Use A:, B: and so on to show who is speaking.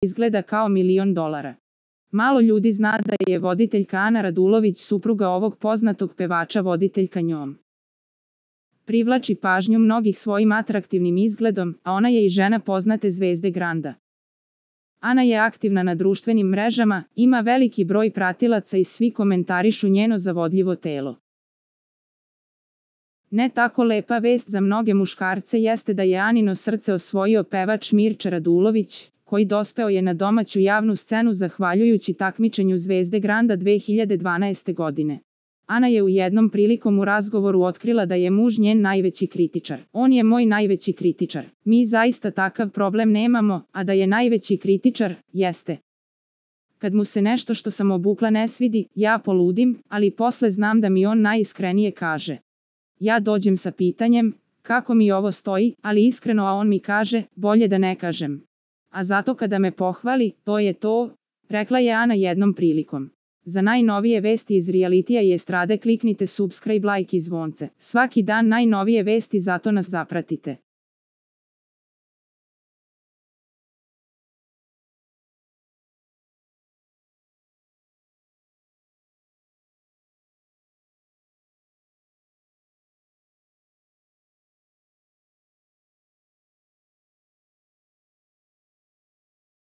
A: izgleda kao $1.000.000. Malo ljudi zna da je voditeljka Ana Radulović supruga ovog poznatog pevača. Voditeljka njom privlači pažnju mnogih svojim atraktivnim izgledom, a ona je i žena poznate zvezde Granda. Ana je aktivna na društvenim mrežama, ima veliki broj pratilaca i svi komentarišu njeno zavodljivo telo. Ne tako lepa vest za mnoge muškarce jeste da je Anino srce osvojio pevač Mirča Radulović, koji dospeo je na domaću javnu scenu zahvaljujući takmičenju zvezde Granda 2012. godine. Ana je u jednom prilikom u razgovoru otkrila da je muž njen najveći kritičar. On je moj najveći kritičar. Mi zaista takav problem nemamo, a da je najveći kritičar, jeste. Kad mu se nešto što sam obukla ne svidi, ja poludim, ali posle znam da mi on najiskrenije kaže. Ja dođem sa pitanjem, kako mi ovo stoji, ali iskreno, a on mi kaže, bolje da ne kažem. A zato kada me pohvali, to je to, rekla je Ana jednom prilikom. Za najnovije vesti iz realitija i estrade kliknite subscribe, like i zvonce. Svaki dan najnovije vesti, zato nas zapratite.